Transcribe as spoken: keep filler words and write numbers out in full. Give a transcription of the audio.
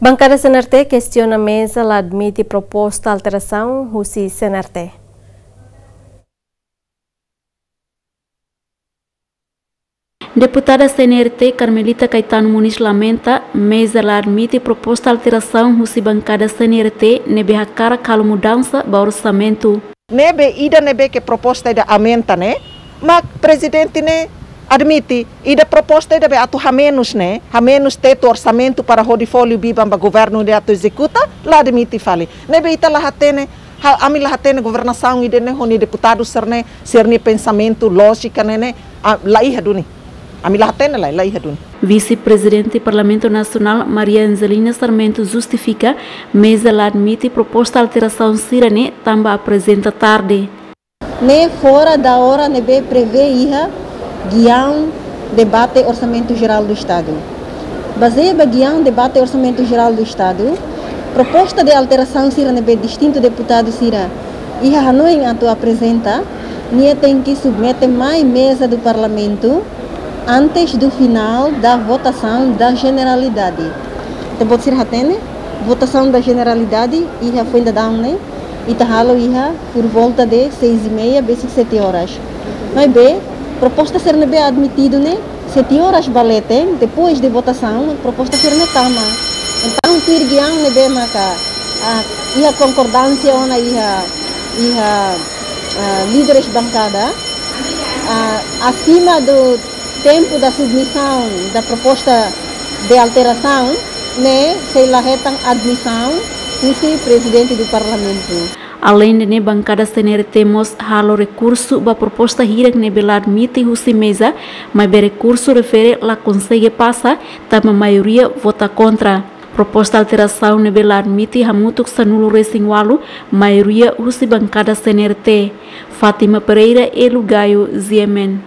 Bankada C N R T kestiona meza la admite proposta alterasaun husi C N R T. Deputada C N R T Carmelita Caetano Muniz lamenta meza la admite proposta alterasaun husi bankada C N R T ne'ebé hakarak halo mudansa ba orsamentu. Ne'ebé ida ne'ebé ke proposta ida aumenta ne'e, mak prezidente ne'e admite. Ida proposta ida be atu hamenus ne'e, hamenus tetu orsamentu para hodi folin biban ba governu ida atu ezekuta, la admite fali. Ne'ebé ita la hatene, ha, ami la hatene governasaun ida ne'e ho nia deputadu sira-ne'e, sira-nia pensamentu, lójika ne'e ne'e, ah, la iha duni. Ami la hatene lai, la iha duni. Vise-Prezidente Parlamentu Nasionál Maria Angelina Sarmento justifika meza la admite proposta alterasaun sira-ne'e tanba aprezenta tarde. Ne'e fora da ora ne'ebé prevee iha giaun debate Orsamentu Jerál do Estadu. Bazeia ba giaun debate Orsamentu Jerál do Estadu, proposta de alterasaun sira ne'ebé distintu deputadu sira iha hanoin atu aprezenta, nia tenke submete mai meza do Parlamentu antes do final da votação da generalidade. Ita-boot sira hatene, votasaun da generalidade iha foin dadaun ne'e, ita halo iha por volta de seis e meia, besik sete horas. Maibé, proposta sira ne'ebé admitidu ne'e, sete horas ba leten, depois de votasaun, proposta sira-ne'e tama. Entaun, tuir giaun ne'ebé maka, ah, iha konkordánsia ona iha, iha, ah, líderes bankada, ah, asima do tempu da submisaun da proposta de alterasaun, ne'e sei la hetan admisaun husi Prezidente do Parlamentu. Aleinde ne'e, bankada C N R T mós halo rekursu ba proposta hirak ne'ebé la admite husi meza, maibé rekursu refere la konsege pasa, tanba maioria vota kontra. Proposta alterasaun ne'ebé la admite hamutuk sanulu-resin-ualu, maioria husi bankada C N R T. Fátima Pereira, Elu Gayo, G M N.